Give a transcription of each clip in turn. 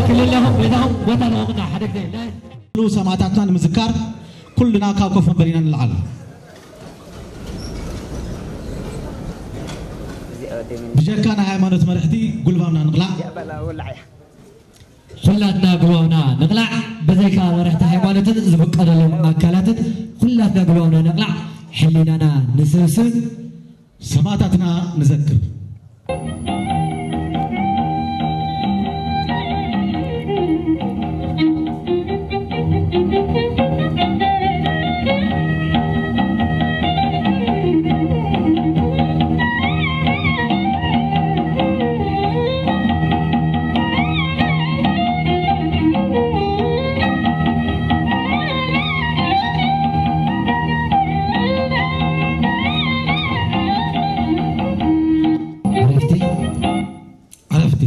ክልለኹም ቤታኹም ቦታ ንወቕና ሓደ ግዜ ኩሉ ሰማእታትና ንምዝካር ኩልና ካብ ኮፍ ወንበሪና ንልዓል። ብጀካ ናይ ሃይማኖት መርሕቲ ጉልባብና ንቕላዕ። ኩላትና ጉልባብና ንቕላዕ። ብዘይካ መርሕቲ ሃይማኖትን ዝፍቀደሎም ኣካላትን ኩላትና ጉልባብና ንቕላዕ። ሕሊናና ንስብስብ። ሰማእታትና ንዘክር። ዕረፍቲ። ዕረፍቲ።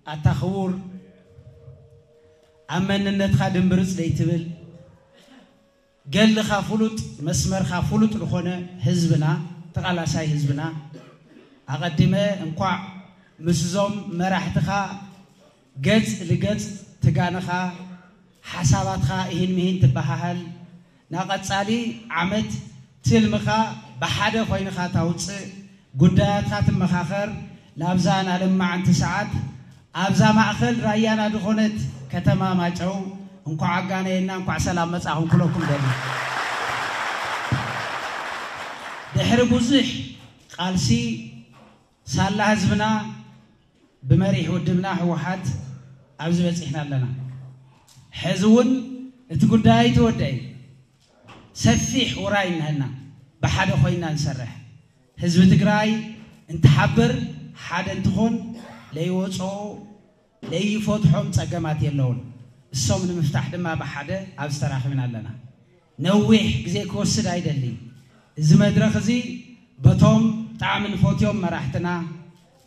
ኣታ ክቡር፣ ኣብ መንነትካ ድምብርጽ ዘይትብል፣ ገድልኻ ፍሉጥ፣ መስመርካ ፍሉጥ ዝኾነ ህዝብና፣ ተቓላሳይ ህዝብና፣ ኣቐዲመ እንኳዕ ምስዞም መራሕትኻ ገጽ ልገጽ ትጋንኻ፣ ሓሳባትካ እሂን ምሂን ትበሃሃል፣ ናቐጻሊ ዓመት ትልምኻ ብሓደ ኮይንኻ ታውጽእ፣ ጉዳያትካ ትመኻኸር፣ ናብዛ ናለማዓንቲ ሰዓት ኣብዛ ማእኸል ራያና ዝኾነት ከተማ ማጨው እንኳዕ ኣጋነየና፣ እንኳዕ ሰላም መጻኹም ክብለኩም ደሊ። ድሕሪ ብዙሕ ቃልሲ ሳላ ህዝብና ብመሪሕ ውድብና ህወሓት ኣብዚ በጺሕና ኣለና። ሕዚ እውን እቲ ጉዳይ ኣይተወደአን። ሰፊሕ ውራይ እነሀና፣ ብሓደ ኮይና ንሰርሕ። ህዝቢ ትግራይ እንትሓብር፣ ሓደ እንትኾን፣ ለይወፅኦ ለይፈትሖም ፀገማት የለውን። እሶም ንምፍታሕ ድማ ብሓደ ኣብዚ ተራኺብና ኣለና። ነዊሕ ግዜ ክወስድ ኣይደልን። እዚ መድረኽ እዚ በቶም ብጣዕሚ ንፈትዮም መራሕትና፣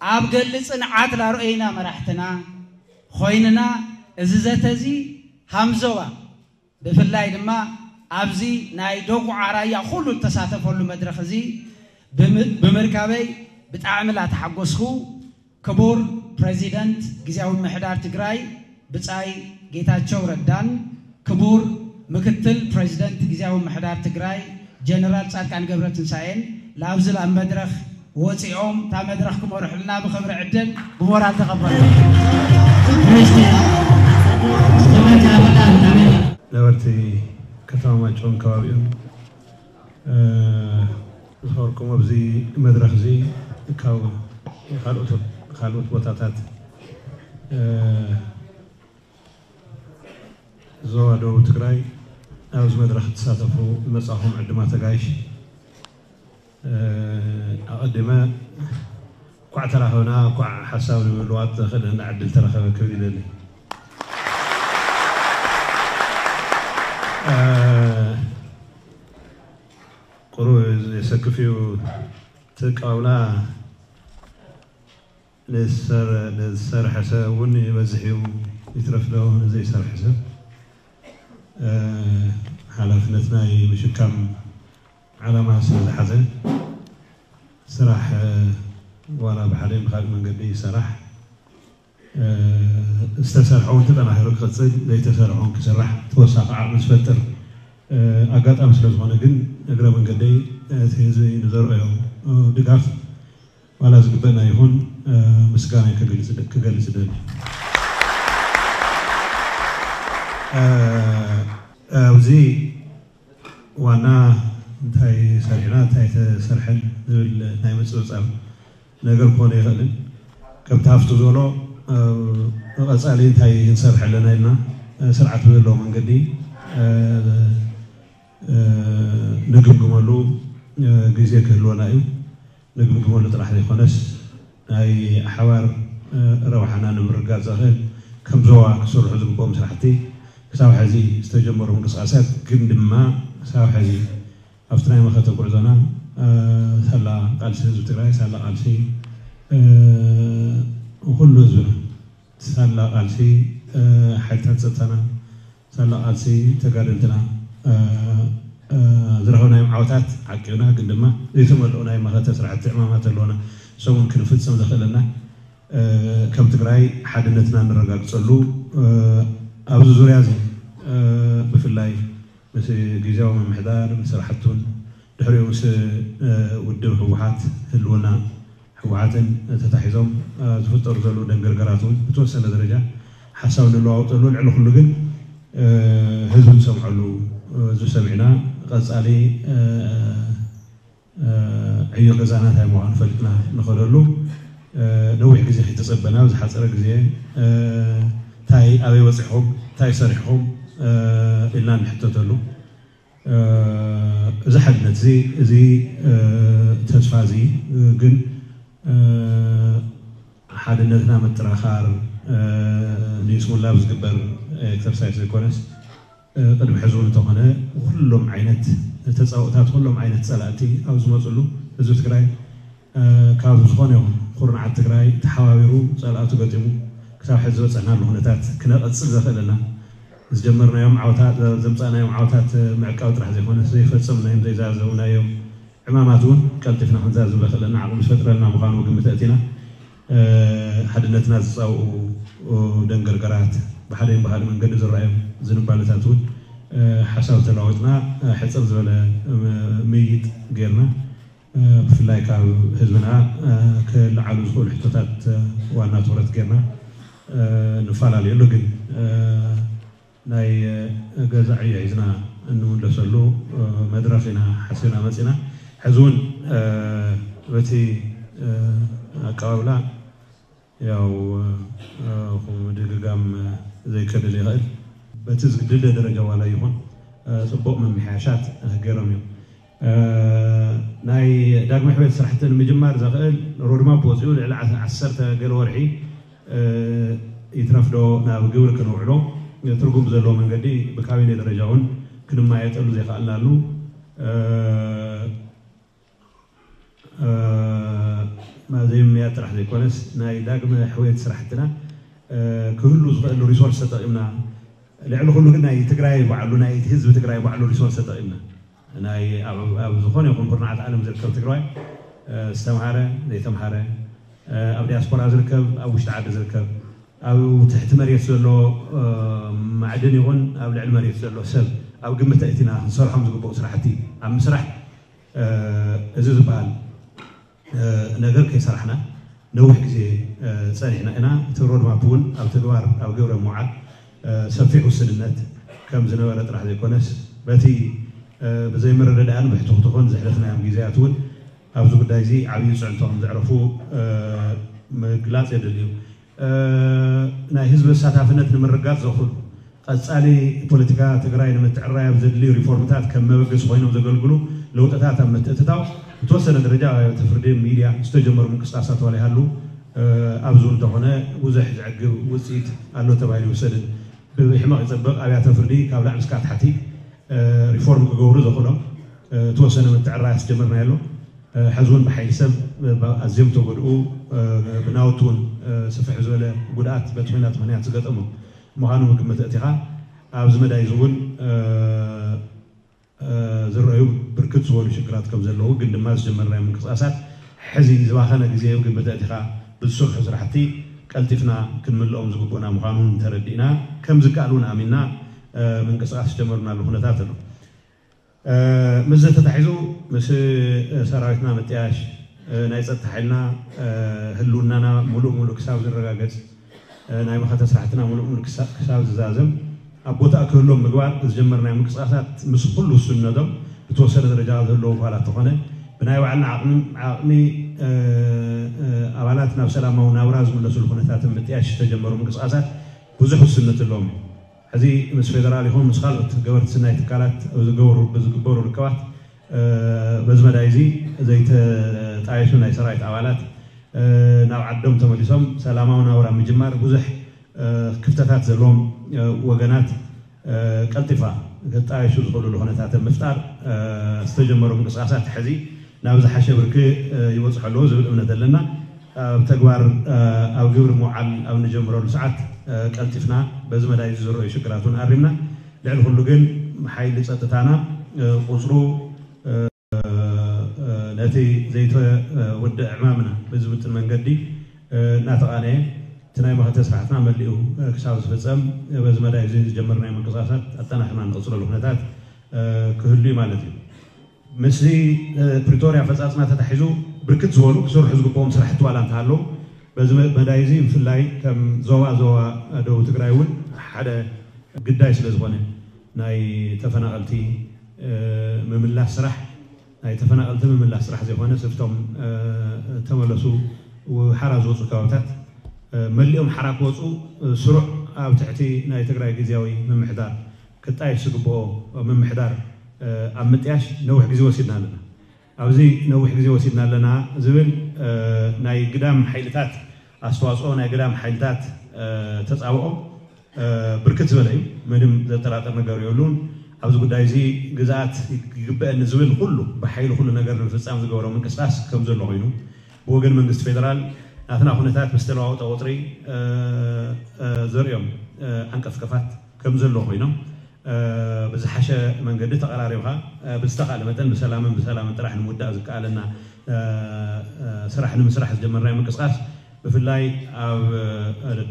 ኣብ ገሊ ፅንዓት ላርኦይና መራሕትና ኮይንና፣ እዚ ዘተ እዚ ሃምዞባ ብፍላይ ድማ ኣብዚ ናይ ደቁዓ ራያ ኩሉ እተሳተፈሉ መድረኽ እዚ ብምርካበይ ብጣዕሚ ላተሓጎስኩ። ክቡር ፕረዚደንት ግዝያዊ ምምሕዳር ትግራይ ብጻይ ጌታቸው ረዳን ክቡር ምክትል ፕረዚደንት ግዝያዊ ምምሕዳር ትግራይ ጀነራል ጻድቃን ገብረትንሳኤን ላብዚ ላብ መድረኽ ወጺኦም እታ መድረኽ ክመርሑልና ብኽብሪ ዕድል ብሞራል ተቐበሉ። ነበርቲ ከተማ ማይጨውን ከባቢኡን ዝኸበርኩም ኣብዚ መድረኽ እዚ ካብ ካልኦት ቦታታት ዞባ ደቡብ ትግራይ ኣብዚ መድረኽ እትሳተፉ ዝመጻኹም ዕድማት ኣጋይሽ ኣቐዲመ እንኳዕ ተራኸብና እንኳዕ ሓሳብ ንምልዋጥ ዘኽእለና ዕድል ተረኸበ ክብል ይደሊ። ቁሩብ የሰክፍ እዩ እቲ ኣቀባብላ። ንዝሰርሐ ሰብ እውን ይበዝሕ እዩ ይትረፍ ዶ ንዘይሰርሐ ሰብ ሓላፍነት ናይ ምሽካም ዓላማ ስለ ዝሓዘ ስራሕ ዋላ ብሓደ ብካልእ መንገዲ ይሰራሕ ዝተሰርሐ እውን ተጠናኺሩ ክቕፅል ዘይተሰርሐ እውን ክስራሕ ተወሳኺ ዓቕሚ ዝፈጥር ኣጋጣሚ ስለ ዝኾነ ግን እግረ መንገደይ እቲ ህዝቢ ንዘርኣዮ ድጋፍ ዋላ ዝግበእና ይኹን ምስጋና ክገልፅ ደሊ። ኣብዚ ዋና እንታይ ሰሪሕና እንታይ ተሰርሐን ዝብል ናይ ምፅብፃብ ነገር ክኾነ ይኽእልን ከምቲ ሃፍቱ ዝበሎ ቀፃሊ እንታይ ንሰርሕ ኣለና ኢልና ስርዓት ብዘለዎ መንገዲ ንግምግመሉ ግዜ ክህልወና እዩ። ንግምግመሉ ጥራሕ ዘይኮነስ ናይ ሓባር ረብሓና ንምርጋፅ ዘኽእል ከም ዞባ ክስርሑ ዝግብኦም ስራሕቲ ክሳብ ሕዚ ዝተጀመሩ ምንቅስቃሳት ግን ድማ ክሳብ ሕዚ ኣብቲ ናይ መኸተ ጉዕዞና ሳላ ቃልሲ ህዝቢ ትግራይ ሳላ ቃልሲ ኩሉ ህዝብና ሳላ ቃልሲ ሓይልታት ፀጥታና ሳላ ቃልሲ ተጋደልትና ዝረኸብናዮም ዓወታት ዓቂብና ግን ድማ ዘይተመልኡ ናይ መኸተ ስራሕቲ ዕማማት ኣለውና ሰሙን ክንፍፅም ዘኽእለና ከም ትግራይ ሓድነትና ነረጋግፀሉ ኣብዚ ዙርያ እዚ ብፍላይ ምስ ግዝያዊ ምምሕዳር ምስ ስራሕቱን ድሕሪኡ ምስ ውድብ ህወሓት ህልውና ህወሓትን ተታሒዞም ዝፍጠሩ ዘለዉ ደንገርገራት እውን ብተወሰነ ደረጃ ሓሳብ ንለዋወጠሉ ልዕሊ ኩሉ ግን ህዝቢ ዝሰምዐሉ ህዝቢ ሰሚዕና ቀፃሊ ዕዮ ገዛና እንታይ ምዃኑ ፈሊጥና ንኸደሉ ነዊሕ ግዜ ከይተፀበና ብዝሓፀረ ግዜ እንታይ ኣበይ በፂሕኹም እንታይ ሰሪሕኹም ኢልና ንሕተተሉ እዚ ሓድነት እዚ እዚ ተስፋ እዚ ግን ሓድነትና ምጥራኻር ንይስሙላ ዝግበር ኤክሰርሳይስ ዘይኮነስ ቅድሚ ሕዚ እውን እንተኾነ ኩሎም ዓይነት ተፃውታት ኩሎም ዓይነት ፀላእቲ ኣብ ዝመፅሉ ህዝቢ ትግራይ ካብ ዝኾነ ይኹን ኩርናዓት ትግራይ ተሓባቢሩ ፀላእቱ ገጢሙ ክሳብ ሕዚ ዝበፀሕናሉ ኩነታት ክነቐፅል ዘኽእለና ዝጀመርናዮም ዓወታት ዘምፃእናዮም ዓወታት ምዕቃብ ጥራሕ ዘይኮነ ዘይፈፀምናዮም ዘይዛዘምናዮም ዕማማት እውን ቀልጢፍና ክንዛዝም ዘኽእለና ዓቕሚ ዝፈጥረልና ምዃኑ ግምት ኣእቲና ሓድነትና ዝፃውኡ ደንገርገራት ብሓደን ብካልእ መንገዲ ዝረኣዮም ዝንባለታት እውን ሓሳብ ተለዋወጥና ሕፅር ዝበለ ምይይጥ ጌርና ብፍላይ ካብ ህዝብና ክለዓሉ ዝኽእሉ ሕቶታት ዋና ትኩረት ጌርና ንፈላለየሉ ግን ናይ ገዛ ዕዮ ሒዝና እንምለሰሉ መድረኽ ኢና ሓሲብና መፂና። ሕዚ እውን በቲ ኣቀባብላ ያው ከምኡ ድግጋም ዘይከድል ይኽእል። በቲ ዝድለ ደረጃ ዋላ ይኹን ፅቡቕ ምምሕያሻት ገይሮም እዮም። ናይ ዳግመ ሕውየት ስራሕቲ ንምጅማር ዘኽእል ሮድማፕ ወፂኡ ልዕሊ ዓሰርተ ገለ ወርሒ ይትረፍ ዶ ናብ ግብሪ ክነውዕሎ ትርጉም ብዘለዎ መንገዲ ብካቢኔ ደረጃ እውን ክንማየጠሉ ዘይከኣልናሉ ዘይምምያጥ ጥራሕ ዘይኮነስ ናይ ዳግመ ሕውየት ስራሕትና ክህሉ ዝኽእል ሪሶርስ ተጠቒምና ልዕሊ ኩሉ ግን ናይ ትግራይ ባዕሉ ናይ ህዝቢ ትግራይ ባዕሉ ሪሶርስ ተጠቂምና ናይ ኣብ ዝኾነ ይኹን ኩርናዓት ዓለም ዝርከብ ትግራይ ዝተምሃረ ዘይተምሃረ ኣብ ዲያስፖራ ዝርከብ ኣብ ውሽጢ ዓዲ ዝርከብ ኣብ ትሕቲ መሬት ዘሎ ማዕድን ይኹን ኣብ ልዕሊ መሬት ዘሎ ሰብ ኣብ ግምት ኣእቲና ክንሰርሖም ዝግብኡ ስራሕቲ ኣብ ምስራሕ እዚ ዝበሃል ነገር ከይሰራሕና ነዊሕ ግዜ ፀኒሕና ኢና። እቲ ሮድማፕ እውን ኣብ ተግባር ኣብ ግብረ ምውዓል ሰፊሕ ውስንነት ከም ዝነበረ ጥራሕ ዘይኮነስ በቲ ብዘይምርድዳእን ብሕትኹትኹን ዘሕለፍናዮም ግዜያት እውን ኣብዚ ጉዳይ እዚ ዓብዪ ፅዕንቶ ከም ዘዕረፉ ምግላፅ የድሊ እዩ። ናይ ህዝቢ ኣሳታፍነት ንምርጋፅ ዘኽእሉ ቀፃሊ ፖለቲካ ትግራይ ንምትዕራይ ኣብ ዘድልዩ ሪፎርምታት ከም መበገሲ ኮይኖም ዘገልግሉ ለውጥታት ኣብ ምትእትታው ብተወሰነ ደረጃ ኣብያተ ፍርዲ ሚድያ ዝተጀመሩ ምንቅስቃሳት ዋላ ይሃሉ ኣብዚ እውን እንተኾነ ብዙሕ ዘዕግብ ውፅኢት ኣሎ ተባሂሉ ይውሰድን ብሕመቕ ይፀበቕ ኣብያተ ፍርዲ ካብ ላዕሊ እስካብ ታሕቲ ሪፎርም ክገብሩ ዘኽእሎም ተወሰነ ምትዕራይ ኣስጀመርና ኣሎ። ሕዚ እውን ብሓይሊ ሰብ ኣዝዮም ተጎድኡ ብናውቲ እውን ስፍሕ ዝበለ ጉድኣት በቲ ኩናት ምክንያት ዝገጠሙ ምዃኑ ምግምት እቲኻ ኣብዚ መዳይ እዚ እውን ዝረኣዩ ብርክት ዝበሉ ሽግራት ከም ዘለዉ ግን ድማ ዝጀመርናዮ ምንቅስቃሳት ሕዚ ዝባኸነ ግዜ ግምት እቲኻ ብዝስርሑ ስራሕቲ ቀልጢፍና ክንምልኦም ዝግብኡና ምዃኑ ተረዲእና ከም ዝከኣል እውን ኣሚንና ምንቅስቃስ ዝጀመርናሉ ኩነታት ኣሎ። ምስዚ ተታሒዙ ምስ ሰራዊትና ምጥያሽ ናይ ፀጥታ ሓይልና ህልውናና ሙሉእ ሙሉእ ክሳብ ዝረጋገፅ ናይ መኸተ ስራሕትና ሙሉእ ሙሉእ ክሳብ ዝዛዘም ኣብ ቦታ ክህሎም ምግባር ዝጀመርናዮ ምንቅስቃሳት ምስ ኩሉ ውሱንነቶም ብተወሰነ ደረጃ ዘለዉ ኳላ ተኾነ ብናይ ባዕልና ዓቕሚ ኣባላት ናብ ሰላማዊ ናብራ ዝምለሱሉ ኩነታት ምጥያሽ ዝተጀመሩ ምንቅስቃሳት ብዙሕ ውስንነት ኣለዎም። ሕዚ ምስ ፌደራል ይኹን ምስ ካልኦት ገበርቲ ስናይ ትካላት ዝገበሩ ብዝግበሩ ርከባት በዚ መዳይ እዚ ዘይተጣየሱ ናይ ሰራዊት ኣባላት ናብ ዓዶም ተመሊሶም ሰላማዊ ናብራ ምጅማር ብዙሕ ክፍተታት ዘለዎም ወገናት ቀልጢፋ ክጣየሹ ዝኽእሉሉ ኩነታት ምፍጣር ዝተጀመሩ ምንቅስቃሳት ሕዚ ናብ ዝሓሸ ብርኪ ይበፅሑ ኣለዉ ዝብል እምነት ኣለና። ኣብ ተግባር ኣብ ግብሪ ምውዓል ኣብ እንጀምረሉ ሰዓት ቀልጢፍና በዚ መዳይ ዝዝረዩ ሽግራት እውን ኣሪምና። ልዕሊ ኩሉ ግን ሓይሊ ፀጥታና ቁፅሩ ነቲ ዘይተወድአ ዕማምና ብዝምጥን መንገዲ እናተቓነየ እቲ ናይ መኸተ ስራሕትና መሊኡ ክሳብ ዝፍፀም በዚ መዳይ እዚ ዝጀመርናዮ ምንቅስቃሳት ኣጠናኽርና እንቕፅለሉ ኩነታት ክህሉ እዩ ማለት እዩ። ምስዚ ፕሪቶርያ ኣፈፃፅማ ተታሒዙ ብርክት ዝበሉ ክስርሑ ዝግብኦም ስራሕቲ ዋላ እንተሃለዉ በዚ መዳይ እዚ ብፍላይ ከም ዞባ ዞባ ደቡብ ትግራይ እውን ሓደ ግዳይ ስለ ዝኾነ ናይ ተፈናቐልቲ ምምላስ ስራሕ ናይ ተፈናቐልቲ ምምላስ ስራሕ ዘይኮነ ስፍቶም ተመለሱ ሓራ ዝወፁ ከባብታት መሊኦም ሓራ ክወፁ ስሩዕ ኣብ ትሕቲ ናይ ትግራይ ግዜያዊ ምምሕዳር ክጣየሽ ዝግብኦ ምምሕዳር ኣብ ምጥያሽ ነዊሕ ግዜ ወሲድና ኣለና። ኣብዚ ነዊሕ ግዜ ወሲድና ኣለና ዝብል ናይ ግዳም ሓይልታት ኣስተዋፅኦ ናይ ግዳም ሓይልታት ተፃብኦ ብርክት ዝበለ እዩ። ምንም ዘጠራጥር ነገር የብሉን። ኣብዚ ጉዳይ እዚ ግዝኣት ይግበአኒ ዝብል ኩሉ ብሓይሊ ኩሉ ነገር ንምፍፃም ዝገበሮ ምንቅስቃስ ከም ዘሎ ኮይኑ ብወገን መንግስቲ ፌደራል ናትና ኩነታት ምስ ተለዋወጠ ቁፅሪ ዘርእዮም ዓንቀፍቀፋት ከም ዘሎ ኮይኖም ብዝሓሸ መንገዲ ተቐራሪብካ ብዝተኻእለ መጠን ብሰላምን ብሰላምን ጥራሕ ንምውዳእ ዝከኣለና ስራሕ ንምስራሕ ዝጀመርናዮ ምንቅስቃስ ብፍላይ ኣብ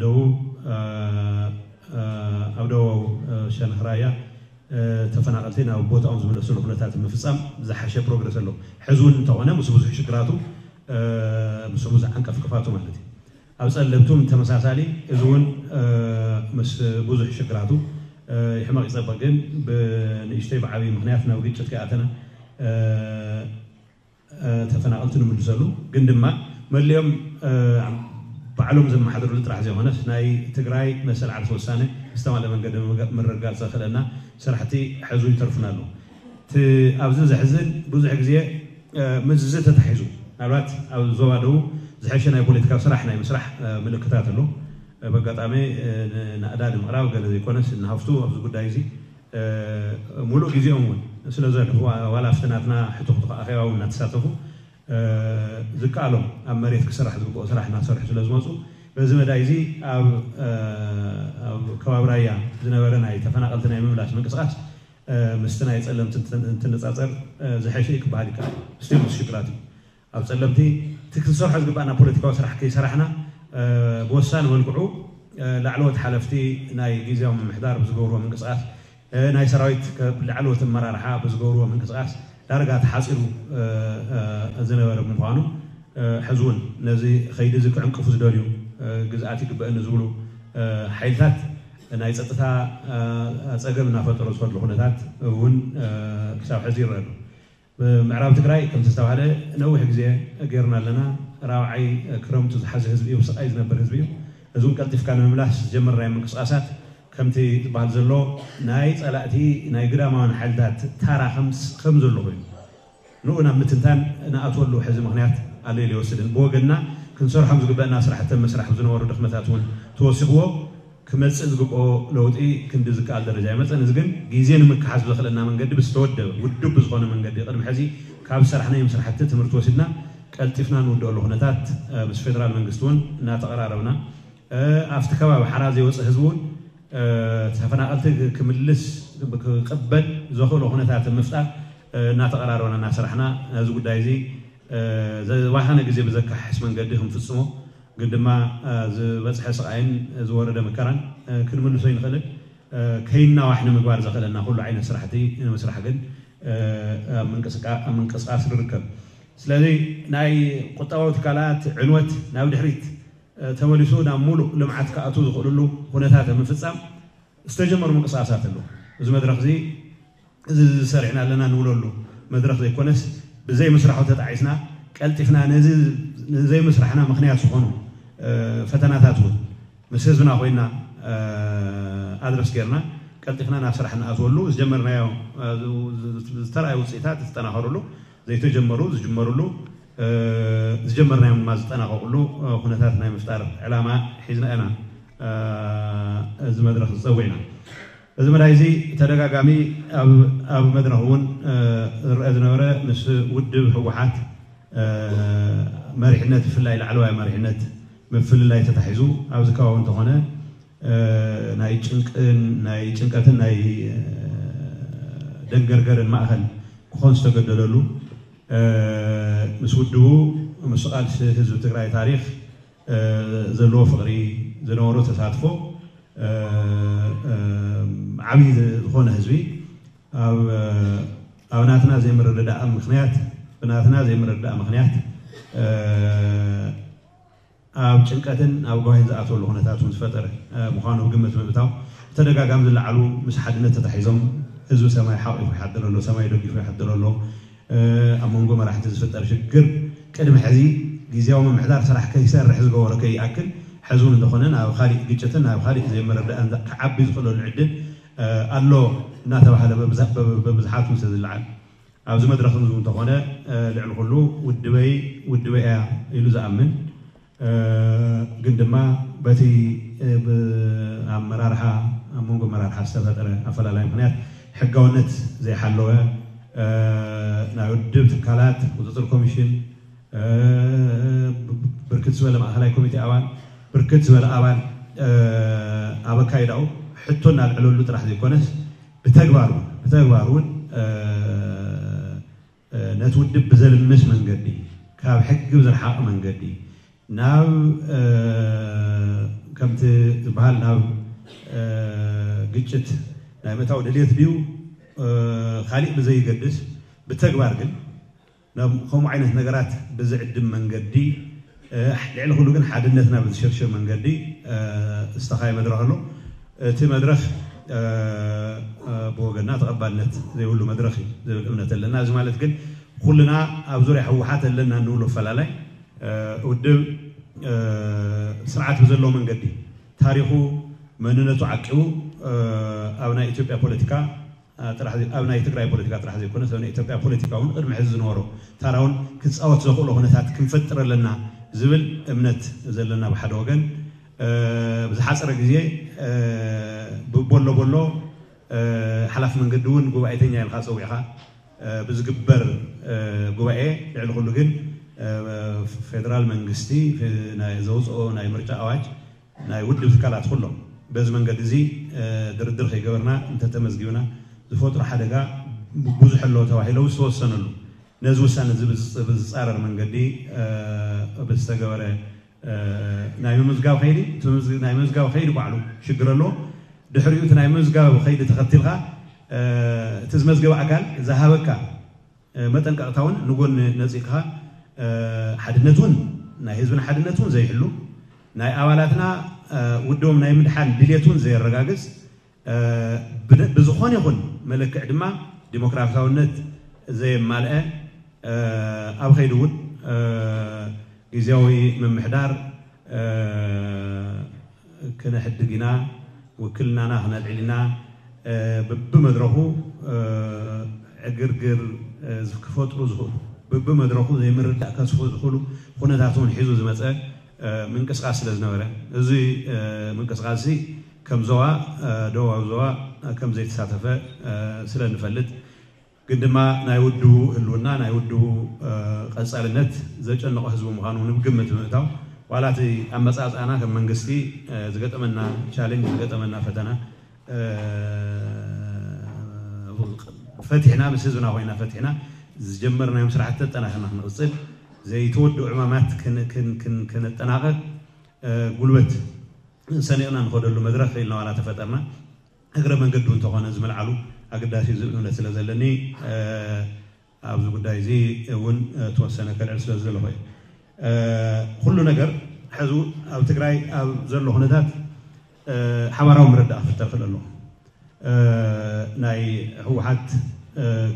ደቡብ ኣብ ደቡብ ሸነኽ ራያ ተፈናቐልቲ ናብ ቦታኦም ዝምለስሉ ኩነታት ምፍፃም ዝሓሸ ፕሮግረስ ኣሎ። ሕዚ እውን እንተኾነ ምስ ብዙሕ ሽግራቱ ምስ ብዙሕ ዓንቀፍቅፋቱ ማለት እዩ። ኣብ ፀለምቱም ተመሳሳሊ እዚ እውን ምስ ብዙሕ ሽግራቱ ይሕመቕ ይፀበቕ ግን ብንእሽተይ ብዓብዪ ምክንያት ናብ ግጭት ከይኣተና ተፈናቐልቲ ንምልሰሉ ግን ድማ መሊኦም ባዕሎም ዘመሓድርሉ ጥራሕ ዘይኮነስ ናይ ትግራይ መሰል ዓርሰ ውሳነ ብዝተማልአ መንገዲ ምርጋፅ ዘኽእለና ስራሕቲ ሕዙ ይተርፉና ኣለዉ። እቲ ኣብዚ ዘሕዝን ብዙሕ ግዜ ምስዚ ተታሒዙ ምናልባት ኣብ ዞባ ደቡብ ዝሐሸ ናይ ፖለቲካዊ ስራሕ ናይ ምስራሕ ምልክታት ኣሎ። በጋጣሚ ንኣዳ ንምቕራብ ገለ ዘይኮነስ ንሃፍቱ ኣብዚ ጉዳይ እዚ ሙሉእ ግዜኦም እውን ስለ ዘሕልፉ ዋላ ኣብቲ ናትና ሕቱኽቱኽ ኣኼባ እውን እናተሳተፉ ዝከኣሎም ኣብ መሬት ክስራሕ ዝግብኦ ስራሕ እናሰርሑ ስለ ዝመፁ በዚ መዳይ እዚ ኣብ ኣብ ከባቢ ራያ ዝነበረ ናይ ተፈናቐልቲ ናይ ምምላስ ምንቅስቃስ ምስቲ ናይ ጸለምቲ እንትንጻጸር ዝሐሸ እዩ ክበሃል ይከኣል። ስቲል ምስ ሽግራት እዩ። ኣብ ጸለምቲ እቲ ክንሰርሖ ዝግባእና ፖለቲካዊ ስራሕ ከይሰራሕና ብወሳኒ መልክዑ ላዕለዎት ሓለፍቲ ናይ ግዝያዊ ምምሕዳር ብዝገብርዎ ምንቅስቃስ ናይ ሰራዊት ላዕለዎት ኣመራርሓ ብዝገብርዎ ምንቅስቃስ ዳርጋ ተሓፂሩ ዝነበረ ብምዃኑ ሕዚ እውን ነዚ ከይዲ እዚ ክዕንቅፉ ዝደልዩ ግዝኣት ይግበአኒ ዝብሉ ሓይልታት ናይ ፀጥታ ፀገም እናፈጠሩ ዝኸድሉ ኩነታት እውን ክሳብ ሕዚ ይረአ ኣሎ። ብምዕራብ ትግራይ ከምቲ ዝተባህለ ነዊሕ ግዜ ገይርና ኣለና። ራብዓይ ክረምቱ ዝሓዘ ህዝቢ እዩ፣ ስቃይ ዝነብር ህዝቢ እዩ። እዚ እውን ቀልጢፍካ ንምምላስ ዝጀመርናዮ ምንቅስቃሳት ከምቲ ዝበሃል ዘሎ ናይ ፀላእቲ ናይ ግዳማውያን ሓይልታት ታራ ከም ዘሎ ኮይኑ ንኡ ናብ ምትንታን ንኣትወሉ ሕዚ ምክንያት ኣሎ ኢለ ይወስድን። ብወገንና ክንሰርሖም ዝግበእና ስራሕቲ ምስራሕ ዝነበሩ ድኽመታት እውን ተወሲኽዎ ክመፅእ ዝግብኦ ለውጢ ክንዲ ዝከኣል ደረጃ ይመፀን። እዚ ግን ግዜ ንምክሓስ ብዘኽእለና መንገዲ ብዝተወደበ ውዱብ ብዝኾነ መንገዲ ቅድሚ ሕዚ ካብ ዝሰራሕናዮም ስራሕቲ ትምህርቲ ወሲድና ቀልጢፍና ንውድኦሉ ኩነታት ምስ ፌደራል መንግስቲ እውን እናተቐራረብና ኣብቲ ከባቢ ሓራ ዘይወፀ ህዝቢ እውን ተፈናቐልቲ ክምልስ ክቕበል ዘኽእሎ ኩነታት ምፍጣር እናተቐራረብና እናሰራሕና ነዚ ጉዳይ እዚ ዝባኸነ ግዜ ብዘካሕስ መንገዲ ክንፍፅሞ ግን ድማ ዝበፅሐ ስቓይን ዝወረደ መከራን ክንምልሶ ይንኽእልን ከይናዋሕ ንምግባር ዘኽእለና ኩሉ ዓይነት ስራሕቲ ንምስራሕ ግን ኣብ ምንቅስቃስ ንርከብ። ስለዚ ናይ ቁጠባዊ ትካላት ዕንወት ናብ ድሕሪት ተመሊሱ ናብ ሙሉእ ልምዓት ክኣትዉ ዝኽእልሉ ኩነታት ምፍፃም ዝተጀመሩ ምንቅስቃሳት ኣለዉ። እዚ መድረኽ እዚ እዚ ዝሰሪዕና ኣለና ንብለሉ መድረኽ ዘይኮነስ ብዘይምስራሑ ተጣዒስና ቀልጢፍና ነዚ ንዘይምስራሕና ምክንያት ዝኾኑ ፈተናታት እውን ምስ ህዝብና ኮይና ኣድረስ ጌርና ቀልጢፍና ናብ ስራሕ ንኣትወሉ ዝጀመርናዮ ዝተረኣዩ ውፅኢታት ዝጠናኸሩሉ ዘይተጀመሩ ዝጅመሩሉ ዝጀመርናዮም ድማ ዝጠናቐቑሉ ኩነታት ናይ ምፍጣር ዕላማ ሒዝና ኢና እዚ መድረኽ ዝፀዊዕና። እዚ መዳይ እዚ ተደጋጋሚ ኣብ መድረኽ እውን ዝረአ ዝነበረ ምስ ውድብ ህወሓት መሪሕነት ብፍላይ ላዕለዋይ መሪሕነት ምፍልላይ ተታሒዙ ኣብዚ ከባቢ እንተኾነ ናይ ጭንቅን ናይ ጭንቀትን ናይ ደንገርገርን ማእኸል ክኾን ዝተገደደሉ ምስ ውድቡ ምስ ቃልሲ ህዝቢ ትግራይ ታሪክ ዘለዎ ፍቕሪ ዝነበሮ ተሳትፎ ዓብዪ ዝኾነ ህዝቢ ኣብ ናትና ዘይምርድዳእ ምክንያት ብናትና ዘይምርድዳእ ምክንያት ኣብ ጭንቀትን ኣብ ጓሂን ዝኣተወሉ ኩነታት እውን ዝፈጠረ ምዃኑ ግምት ምእታው ብተደጋጋሚ ዝለዓሉ ምስ ሓድነት ተታሒዞም ህዝቢ ሰማይ ሓቂፉ ይሓድር ኣሎ፣ ሰማይ ደጊፉ ይሓድር ኣሎ። ኣብ መንጎ መራሕቲ ዝፍጠር ሽግር ቅድሚ ሕዚ ግዝያዊ ምምሕዳር ስራሕ ከይሰርሕ ዝገበሮ ከይኣክል ሕዚ እውን እንተኾነ ናብ ካሊእ ግጭትን ናብ ካሊእ ዘይምርድዳእን ክዓቢ ዝኽእለሉ ዕድል ኣሎ እናተባህለ በብዝሓት ምስ ዝለዓል ኣብዚ መድረኽ እዚ እንተኾነ ልዕሊ ኩሉ ውድበይ ውድበይ እያ ኢሉ ዝኣምን ግን ድማ በቲ ኣመራርሓ ኣብ መንጎ ኣመራርሓ ዝተፈጠረ ኣፈላላይ ምክንያት ሕጋውነት ዘይሓለወ ናይ ውድብ ትካላት ቁፅፅር ኮሚሽን ብርክት ዝበለ ማእኸላይ ኮሚቴ ኣባል ብርክት ዝበለ ኣባል ኣብ ኣካይዳኡ ሕቶ እናልዕለሉ ጥራሕ ዘይኮነስ ብተግባር እውን ብተግባር እውን ነቲ ውድብ ብዘልምስ መንገዲ ካብ ሕጊ ብዝረሓቐ መንገዲ ናብ ከምቲ ዝበሃል ናብ ግጭት ናይ ምእታው ድልየት ድዩ ካሊእ ብዘይገድስ ብተግባር ግን ከምኡ ዓይነት ነገራት ብዝዕድም መንገዲ ልዕሊ ኩሉ ግን ሓድነትና ብዝሸርሽር መንገዲ ዝተኻየ መድረኽ ኣሎ። እቲ መድረኽ ብወገንና ተቐባልነት ዘይብሉ መድረኽ እዩ ዝብል እምነት ኣለና። እዚ ማለት ግን ኩልና ኣብ ዙርያ ህወሓት ኣለና እንብሎ ኣፈላላይ ውድብ ስርዓት ብዘለዎ መንገዲ ታሪኹ መንነቱ ዓቂቡ ኣብ ናይ ኢትዮጵያ ፖለቲካ ኣብ ናይ ትግራይ ፖለቲካ ጥራሕ ዘይኮነስ ኣብ ናይ ኢትዮጵያ ፖለቲካ እውን ቅድሚ ሕዚ ዝነበሮ ታራ እውን ክፃወት ዘኽእሎ ኩነታት ክንፈጥር ኣለና ዝብል እምነት ዘለና ብሓደ ወገን ብዝሓፀረ ግዜ ብቦሎ ቦሎ ሓላፊ መንገዲ እውን ጉባኤተኛ ኢልካ ፀዊዕካ ብዝግበር ጉባኤ ልዕሊ ኩሉ ግን ፌደራል መንግስቲ ዘውፅኦ ናይ ምርጫ ኣዋጅ ናይ ውድብ ትካላት ኩሎም በዚ መንገዲ እዚ ድርድር ከይገበርና እንተተመዝጊብና ዝፈጥሮ ሓደጋ ብዙሕ ኣሎ ተባሂሎ ዝተወሰነሉ ነዚ ውሳነ እዚ ብዝፃረር መንገዲ ብዝተገበረ ናይ ምምዝጋብ ከይዲ ናይ ምምዝጋብ ከይዲ ባዕሉ ሽግር ኣለዎ። ድሕሪኡ እቲ ናይ ምምዝጋብ ከይዲ ተኸቲልካ እቲ ዝመዝገበ ኣካል ዝሃበካ መጠንቀቕታ እውን ንጎኒ ነፂቕካ ሓድነት እውን ናይ ህዝብና ሓድነት እውን ዘይሕሉ ናይ ኣባላትና ውድቦም ናይ ምድሓን ድሌት እውን ዘየረጋግፅ ብዝኾነ ይኹን መለክዕ ድማ ዲሞክራሲያውነት ዘየማልአ ኣብ ከይዲ እውን ግዜያዊ ምምሕዳር ክነሕድግ ኢና፣ ውክልናና ክነልዕል ኢና፣ ብብመድረኹ ዕግርግር ክፈጥሩ ዝኽእሉ ብብመድረኹ ዘይምርዳእ ከስፉ ዝኽእሉ ኩነታት እውን ሒዙ ዝመፀ ምንቅስቃስ ስለ ዝነበረ እዚ ምንቅስቃስ እዚ ከም ዞባ ደቡባዊ ዞባ ከም ዘይተሳተፈ ስለ ንፈልጥ ግን ድማ ናይ ውድቡ ህልውና ናይ ውድቡ ቀፃልነት ዘጨነቆ ህዝቢ ምዃኑ ንግምት ብምእታው ዋላ እቲ ኣመፃፅኣና ከም መንግስቲ ዝገጠመና ቻሌንጅ ዝገጠመና ፈተና ፈቲሕና ምስ ህዝብና ኮይና ፈቲሕና ዝጀመርናዮም ስራሕቲ ኣጠናኺርና ክንቕፅል ዘይተወድኡ ዕማማት ከነጠናቕቕ ጉልበት ሰኒቕና ንኸደሉ መድረኽ ኢልና ዋላ ተፈጠርና እግረ መንገዱ እንተኾነ ዝምልዓሉ ኣገዳሲ ዝብል እምነት ስለ ዘለኒ ኣብዚ ጉዳይ እዚ እውን ተወሰነ ከልዕል ስለ ዝደለኹ ኩሉ ነገር ሕዚ ኣብ ትግራይ ኣብ ዘሎ ኩነታት ሓባራዊ ምርዳእ ክፍጠር ክእል ኣለዎ። ናይ ህወሓት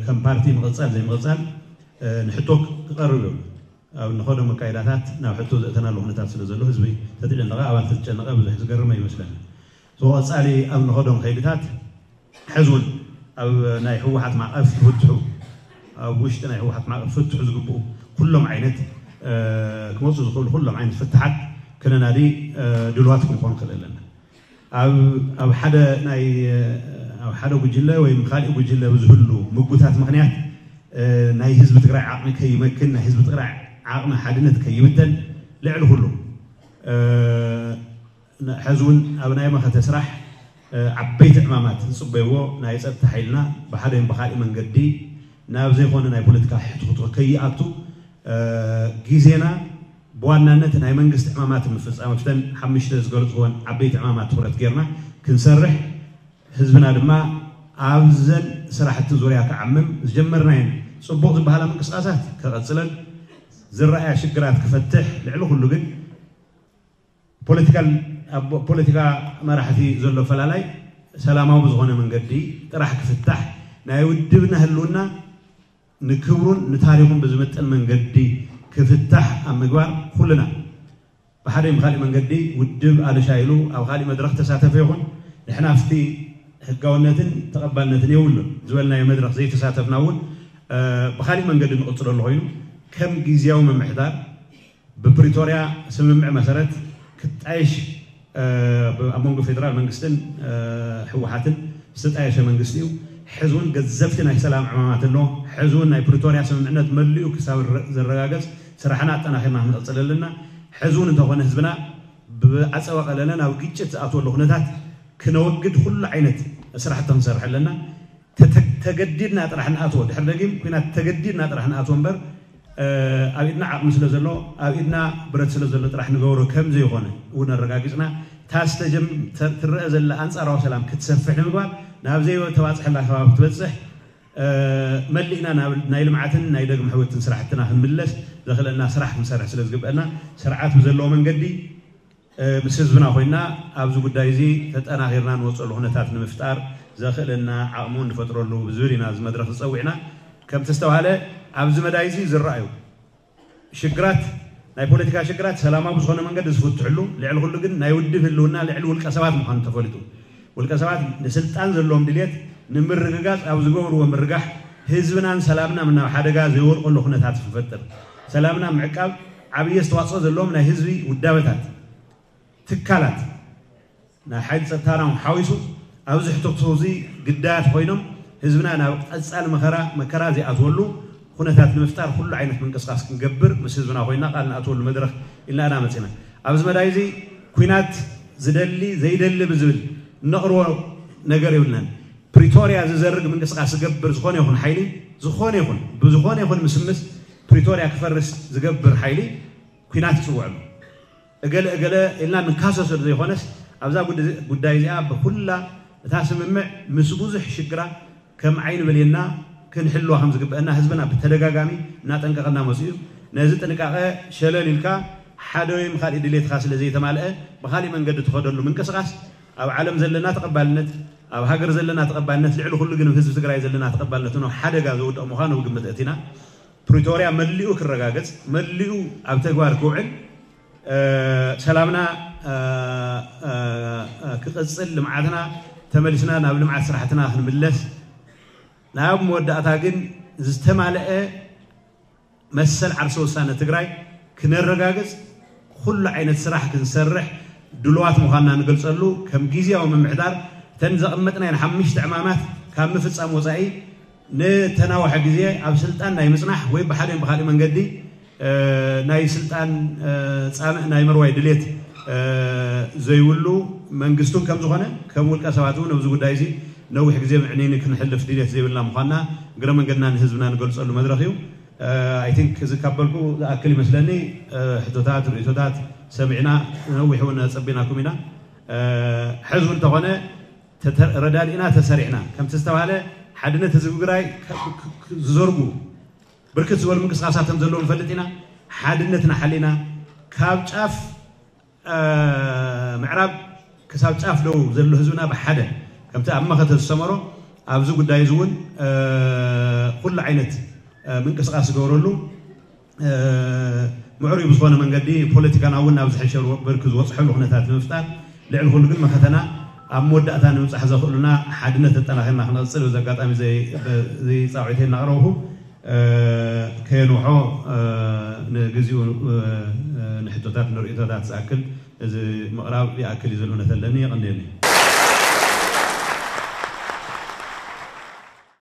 ከም ፓርቲ ምቕፃል ዘይምቕፃል ንሕቶ ክቐርብ እዩ። ኣብ ንኸዶ መካይዳታት ናብ ሕቶ ዘእተናሉ ኩነታት ስለ ዘሎ ህዝቢ ተትጨነቐ ኣባል ተትጨነቐ ብዙሕ ዝገርም ኣይመስለኒ። ተወቐፃሊ ኣብ ንኸዶም ከይድታት ሕዚ እውን ኣብ ናይ ህወሓት ማዕቐፍ ክፍትሑ ኣብ ውሽጢ ናይ ህወሓት ማዕቐፍ ክፍትሑ ዝግብኡ ኩሎም ዓይነት ክመፁ ዝኽእሉ ኩሎም ዓይነት ፍትሓት ክነናዲ ድልዋት ክንኾን ክእል ኣለና። ኣብ ሓደ ናይ ኣብ ሓደ ጉጅለ ወይ ካልእ ጉጅለ ብዝህሉ ምጉታት ምክንያት ናይ ህዝቢ ትግራይ ዓቕሚ ከይመክን ናይ ህዝቢ ትግራይ ዓቕሚ ሓድነት ከይብተን ልዕሊ ኩሉ ሕዚ እውን ኣብ ናይ መኸተ ስራሕ ዓበይቲ ዕማማት ዝፅበይዎ ናይ ፀጥታ ሓይልና ብሓደ ብካሊእ መንገዲ ናብ ዘይኮነ ናይ ፖለቲካ ሕትኩትኩ ከይኣቱ ግዜና ብዋናነት ናይ መንግስቲ ዕማማት ምፍፃም ኣብተን ሓሙሽተ ዝገለፅክወን ዓበይቲ ዕማማት ትኩረት ጌርና ክንሰርሕ ህዝብና ድማ ኣብዘን ስራሕቲ ዙርያ ክዓምም ዝጀመርናየን ፅቡቕ ዝበሃላ ምንቅስቃሳት ከቐፅለን ዝረኣያ ሽግራት ክፈትሕ ልዕሊ ኩሉ ግን ፖለቲካል ኣብ ፖለቲካ መራሕቲ ዘሎ ፈላላይ ሰላማዊ ብዝኾነ መንገዲ ጥራሕ ክፍታሕ ናይ ውድብና ህልውና ንክብሩን ንታሪኹን ብዝምጥን መንገዲ ክፍታሕ ኣብ ምግባር ኩልና ብሓደ ብካሊእ መንገዲ ውድብ ኣልሻ ኢሉ ኣብ ካሊእ መድረኽ ተሳተፈ ይኹን ንሕና ኣብቲ ህጋውነትን ተቐባልነትን የብሉን ዝበልናዮ መድረኽ ዘይተሳተፍና እውን ብካሊእ መንገዲ ንቕፅለሉ ኮይኑ ከም ግዝያዊ ምምሕዳር ብፕሪቶርያ ስምምዕ መሰረት ክጣየሽ ኣብ መንጎ ፌደራል መንግስትን ህወሓትን ዝተጣየሸ መንግስቲ እዩ። ሕዚ እውን ገዘፍቲ ናይ ሰላም ዕማማት ኣሎ። ሕዚ እውን ናይ ፕሪቶርያ ስምምዕነት መሊኡ ክሳብ ዝረጋገፅ ስራሕና ኣጠናኺርና ክንቕፅል ኣለና። ሕዚ እውን እንተኾነ ህዝብና ብዓፀወ ቀለለ ናብ ግጭት ዝኣትወሉ ኩነታት ክነወግድ ኩሉ ዓይነት ስራሕቲ ክንሰርሕ ኣለና። ተገዲድና ጥራሕ ንኣትዎ ድሕሪ ደጊም ኩናት ተገዲድና ጥራሕ ንኣትዎ እምበር ኣብ ኢድና ዓቕሚ ስለ ዘሎ ኣብ ኢድና ብረት ስለ ዘሎ ጥራሕ ንገብሮ ከም ዘይኮነ እውን ኣረጋጊፅና እታ ዝተጀም ትረአ ዘላ ኣንፃራዊ ሰላም ክትሰፍሕ ንምግባር ናብ ዘይተባፅሐላ ከባቢ ክትበፅሕ መሊእና ናይ ልምዓትን ናይ ደግሚ ሕውትን ስራሕትና ክንምለስ ዘኽእለና ስራሕ ክንሰርሕ ስለ ዝግበአና ስርዓት ብዘለዎ መንገዲ ምስ ህዝብና ኮይና ኣብዚ ጉዳይ እዚ ተጠናኺርና ንወፀሉ ኩነታት ንምፍጣር ዘኽእለና ዓቕሙ ንፈጥረሉ ብዝብል ኢና እዚ መድረኽ ዝፀዊዕና። ከምቲ ዝተባሃለ ኣብዚ መዳይ እዚ ዝረኣዩ ሽግራት ናይ ፖለቲካ ሽግራት ሰላማዊ ብዝኾነ መንገዲ ዝፍትሕሉ ልዕሊ ኩሉ ግን ናይ ውድብ ህልውና ልዕሊ ውልቀ ሰባት ምዃኑ ተፈሊጡ ውልቀ ሰባት ንስልጣን ዘለዎም ድልየት ንምርግጋፅ ኣብ ዝገብርዎ ምርጋሕ ህዝብናን ሰላምና ናብ ሓደጋ ዘይወድቀሉ ኩነታት ንፈጥር። ሰላምና ምዕቃብ ዓብዪ ኣስተዋፅኦ ዘለዎም ናይ ህዝቢ ውዳበታት፣ ትካላት ናይ ሓይሊ ፀጥታና ሓዊሱ ኣብዚ ሕቶ እዚ ግዳያት ኮይኖም ህዝብና ናብ ቀፃሊ መኸራ መከራ ዘይኣትወሉ ኩነታት ንምፍጣር ኩሉ ዓይነት ምንቅስቃስ ክንገብር ምስ ህዝብና ኮይና ቃል ንኣትወሉ መድረኽ ኢልና ኢና መፂና። ኣብዚ መዳይ እዚ ኩናት ዝደሊ ዘይደሊ ብዝብል እነቕርቦ ነገር የብልናን። ፕሪቶርያ ዝዘርግ ምንቅስቃስ ዝገብር ዝኾነ ይኹን ሓይሊ፣ ዝኾነ ይኹን ብዝኾነ ይኹን ምስምስ ፕሪቶርያ ክፈርስ ዝገብር ሓይሊ ኩናት ይፅውዐሉ። እገለ እገለ ኢልና ንካሰሶ ዘይኮነስ ኣብዛ ጉዳይ እዚኣ ብኩላ እታ ስምምዕ ምስ ብዙሕ ሽግራ ከም ዓይኒ ብሌና ክንሕልዋ ከም ዝግበአና ህዝብና ብተደጋጋሚ እናጠንቀቐና መፅኡ እዩ። ነዚ ጥንቃቐ ሸለል ኢልካ ሓደ ወይ ካልእ ድሌትካ ስለ ዘይተማልአ ብካሊእ መንገዲ ትኸደሉ ምንቅስቃስ ኣብ ዓለም ዘለና ተቐባልነት፣ ኣብ ሃገር ዘለና ተቐባልነት፣ ልዕሊ ኩሉ ግን ህዝቢ ትግራይ ዘለና ተቐባልነት ናብ ሓደጋ ዘውድቕ ምዃኑ ግምት ኣእቲና ፕሪቶርያ መሊኡ ክረጋገጽ፣ መሊኡ ኣብ ተግባር ክውዕል፣ ሰላምና ክቕጽል፣ ልምዓትና ተመሊስና ናብ ልምዓት ስራሕትና ክንምለስ፣ ናብ መወዳእታ ግን ዝተማለአ መሰል ዓርሰ ውሳነ ትግራይ ክነረጋግጽ ኩሉ ዓይነት ስራሕ ክንሰርሕ ድልዋት ምዃንና ንገልጸሉ፣ ከም ግዝያዊ ምምሕዳር እተን ዘቐመጥናየን ሓሙሽተ ዕማማት ካብ ምፍጻም ወጻኢ ንተናውሐ ግዜ ኣብ ስልጣን ናይ ምጽናሕ ወይ ብሓደ ብካሊእ መንገዲ ናይ ስልጣን ፃምእ ናይ ምርዋይ ድሌት ዘይብሉ መንግስቱን ከም ዝኾነ ከም ውልቀ ሰባት እውን ኣብዚ ጉዳይ እዚ ነዊሕ ግዜ ምዕኒኒ ክንሕልፍ ድሌት ዘይብልና ምዃንና እግረ መንገድና ንህዝብና ንገልፀሉ መድረኽ እዩ። ኣይ ቲንክ እዚ ካብ በልኩ ዝኣክል ይመስለኒ። ሕቶታት፣ ርእቶታት ሰሚዕና ነዊሕ እውን ኣፀቢናኩም ኢና። ሕዚ እውን እንተኾነ ረዳዲእና ተሰሪዕና ከምቲ ዝተባሃለ ሓድነት ህዝቢ ትግራይ ዝዘርጉ ብርክት ዝበሉ ምንቅስቃሳት ከም ዘለዉ ንፈልጥ ኢና። ሓድነትና ሓሊና ካብ ጫፍ ምዕራብ ክሳብ ጫፍ ደቡብ ዘሎ ህዝብና ብሓደ ከምቲ ኣብ መኸተ ዝሰመሮ ኣብዚ ጉዳይ እዚ እውን ኩሉ ዓይነት ምንቅስቃስ ዝገብረሉ ምዕሩይ ብዝኾነ መንገዲ ፖለቲካና እውን ናብ ዝሐሸ ብርኪ ዝበፅሐሉ ኩነታት ንምፍጣር ልዕሊ ኩሉ ግን መኸተና ኣብ መወዳእታ ንምብፃሕ ዘኽእሉና ሓድነት ኣጠናኺርና ክነቕፅል በዚ ኣጋጣሚ ፃውዒተይ እናቕረብኹ ከየንውሖ ንግዚኡ ንሕቶታት ንርእቶታት ዝኣክል እዚ ምቕራብ ይኣክል እዩ ዝብል እምነት ኣለኒ። የቐንየኒ።